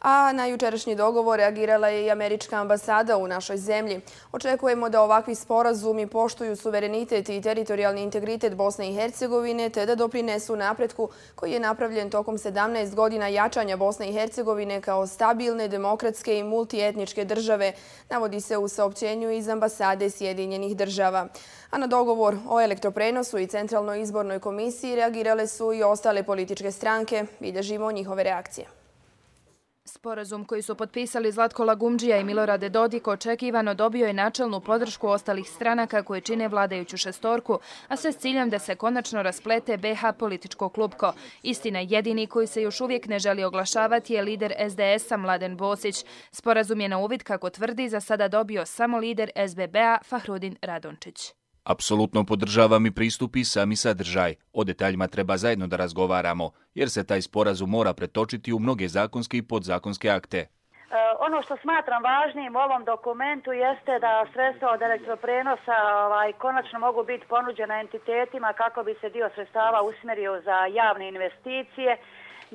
A na jučerašnji dogovor reagirala je i američka ambasada u našoj zemlji. Očekujemo da ovakvi sporazumi poštuju suverenitet i teritorijalni integritet Bosne i Hercegovine te da doprinesu napretku koji je napravljen tokom 17 godina jačanja Bosne i Hercegovine kao stabilne, demokratske i multietničke države, navodi se u saopćenju iz ambasade Sjedinjenih država. A na dogovor o elektroprenosu i Centralnoj izbornoj komisiji reagirale su i ostale političke stranke. Bilježimo njihove reakcije. Sporazum koji su potpisali Zlatko Lagumdžija i Milorad Dodik očekivano dobio je načelnu podršku ostalih stranaka koje čine vladajuću šestorku, a sve s ciljem da se konačno rasplete BiH političko klupko. Istina, jedini koji se još uvijek ne želi oglašavati je lider SDS-a Mladen Bosić. Sporazum je na uvid, kako tvrdi, za sada dobio samo lider SBB-a Fahrudin Radončić. Apsolutno podržavam i pristup i sami sadržaj. O detaljima treba zajedno da razgovaramo, jer se taj sporazum mora pretočiti u mnoge zakonske i podzakonske akte. Ono što smatram važnim u ovom dokumentu jeste da sredstva od elektroprenosa konačno mogu biti ponuđena entitetima kako bi se dio sredstava usmjerio za javne investicije.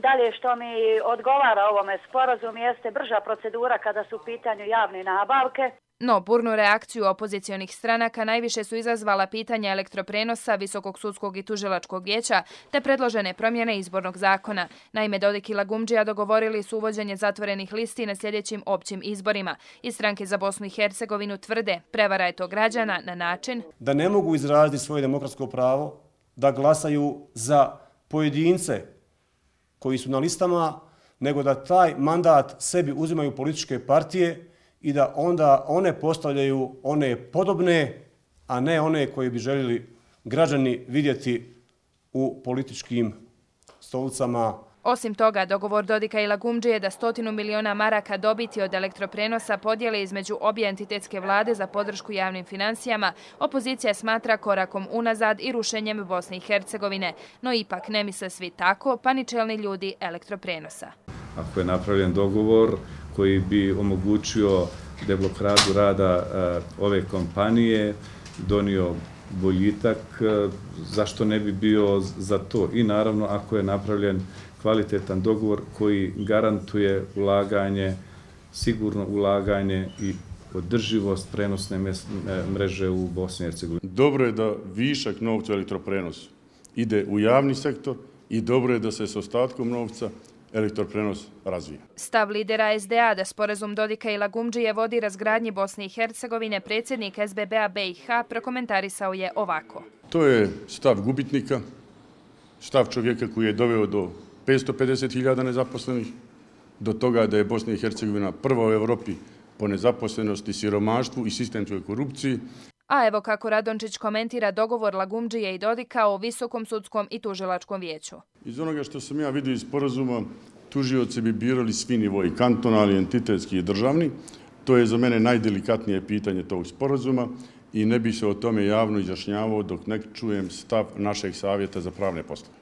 Dalje, što mi odgovara ovome sporazumu jeste brža procedura kada su u pitanju javne nabavke. No, burnu reakciju opozicionih stranaka najviše su izazvala pitanja elektroprenosa, Visokog sudskog i tužilačkog vijeća te predložene promjene izbornog zakona. Naime, Dodik i Lagumdžija dogovorili su uvođenje zatvorenih listi na sljedećim općim izborima. I stranke za Bosnu i Hercegovinu tvrde, prevara je to građana na način da ne mogu izraziti svoje demokratsko pravo, da glasaju za pojedince koji su na listama, nego da taj mandat sebi uzimaju političke partije i da onda one postavljaju one podobne, a ne one koje bi željeli građani vidjeti u političkim stolicama. Osim toga, dogovor Dodika i Lagumdžije da 100 miliona maraka dobiti od elektroprenosa podijele između obje entitetske vlade za podršku javnim financijama, opozicija smatra korakom unazad i rušenjem Bosne i Hercegovine. No ipak ne misle svi tako, pa ni čelni ljudi elektroprenosa. Ako je napravljen dogovor koji bi omogućio deblokadu rada ove kompanije, donio boljitak, zašto ne bi bio za to? I naravno, ako je napravljen kvalitetan dogovor koji garantuje ulaganje, sigurno ulaganje i održivost prenosne mreže u Bosni i Hercegovini. Dobro je da višak novca u elektroprenosu ide u javni sektor i dobro je da se s ostatkom novca elektroprenos razvija. Stav lidera SDA da sporazum Dodika i Lagumdžije vodi razgradnji Bosne i Hercegovine, predsjednik SBB-a BiH prokomentarisao je ovako. To je stav gubitnika, stav čovjeka koji je doveo do 550.000 nezaposlenih, do toga da je Bosna i Hercegovina prva u Evropi po nezaposlenosti, siromaštvu i sistemskoj korupciji. A evo kako Radončić komentira dogovor Lagumdžije i Dodika o Visokom sudskom i tužilačkom vijeću. Iz onoga što sam ja vidio iz sporazuma, tužioci bi birali svi nivoji, kantonalni, entitetski i državni. To je za mene najdelikatnije pitanje tog sporazuma i ne bih se o tome javno izjašnjavao dok ne čujem stav našeg savjeta za pravne poslove.